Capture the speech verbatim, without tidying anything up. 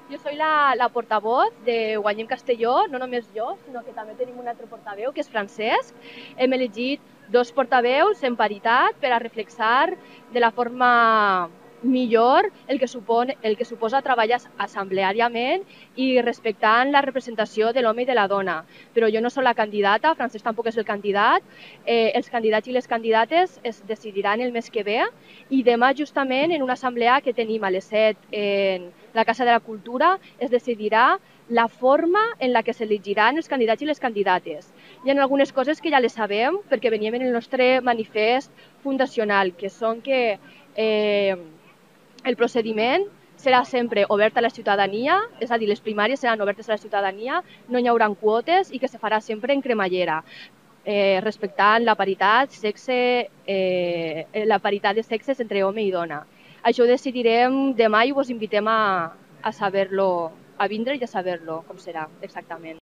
Jo soy la, la portavoz de Guanyem Castelló, no només jo, sinó que també tenim un altre portaveu, que és Francesc. Hem elegit dos portaveus en paritat per a reflexar de la forma millor el que, supon, el que suposa treballar assembleàriament i respectant la representació de l'home i de la dona. Però jo no soc la candidata, Francesc tampoc és el candidat. Eh, els candidats i les candidates es decidiran el mes que ve i demà justament en una assemblea que tenim a les set en la Casa de la Cultura es decidirà la forma en la que s'elegiran els candidats i les candidates. Hi ha algunes coses que ja les sabem perquè veníem en el nostre manifest fundacional, que són que eh, el procediment serà sempre obert a la ciutadania, és a dir, les primàries seran obertes a la ciutadania, no hi haurà quotes i que se farà sempre en cremallera, eh, respectant la paritat, sexe, eh, la paritat de sexes entre home i dona. Això ho decidirem demà i us invitem a, a saber-lo, a vindre i a saber-lo com serà exactament.